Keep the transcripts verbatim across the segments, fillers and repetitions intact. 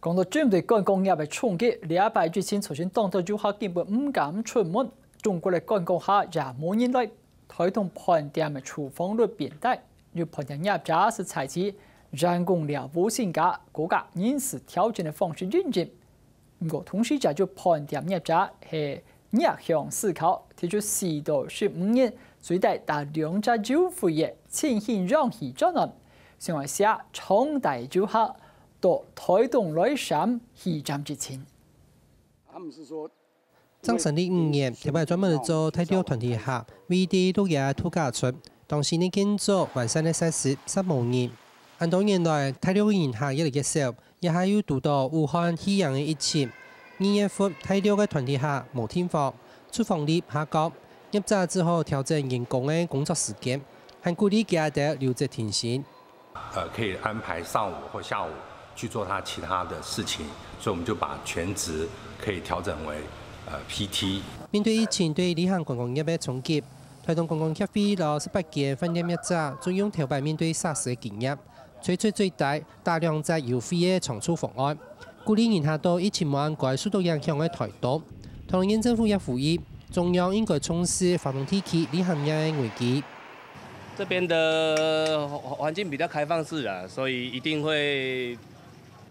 講到針對觀光業个衝擊，這擺疫情造成當多遊客根本毋敢出門，中國个觀光客也無人來。台東飯店个廚房率變低，有飯店業者係採取員工寮屋性質、高價人事調整个方式經營。毋過，同時也有飯店業者係逆向思考，提出四到十五日最低打兩折優惠个振興氧氣專案，想要吸長大遊客到台東來閃氣站疫情。他們是說 張成立五年，頭擺專門做大陸團體客，為第六个度假村，當時呢建築完善个設施，煞無人。恁多年來，大陸个人客越來越少，這下又堵到武漢肺炎个疫情。二月份，大陸个團體客無訂房，廚房率下降，業者只好調整員工个工作時間，還鼓勵佢兜留職停薪。 呃，可以安排上午或下午去做他其他的事情，所以我們就把全職可以調整為呃PT。面對疫情對旅行觀光業个衝擊，台東觀光協會摎十八間飯店業者總用頭擺面對SARS个經驗，推出最低打兩折優惠个長住方案，鼓勵人客到疫情無恁該受到影響个台東。桃園縣政府也呼籲，中央應該重視華東地區旅行業个危機。 這邊的環環境比較開放式啊，所以一定會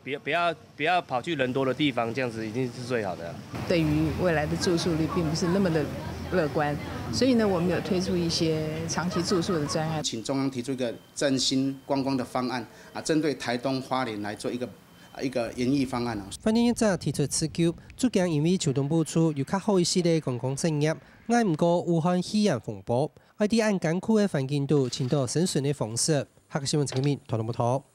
不要不要不要跑去人多的地方，這樣子一定是最好的啊。對於未來的住宿率並不是那麼的樂觀，所以呢，我們有推出一些長期住宿的專案。請中央提出一個振興觀光的方案啊，針對台東花蓮來做一個啊一個研議方案哦。飯店業者提出自救，最近因為秋冬補助有較好一息个觀光產業， 挨毋過武漢肺炎風暴，愛在恁艱苦个環境肚尋到生存个方式。客家新聞陳建明，台東報導。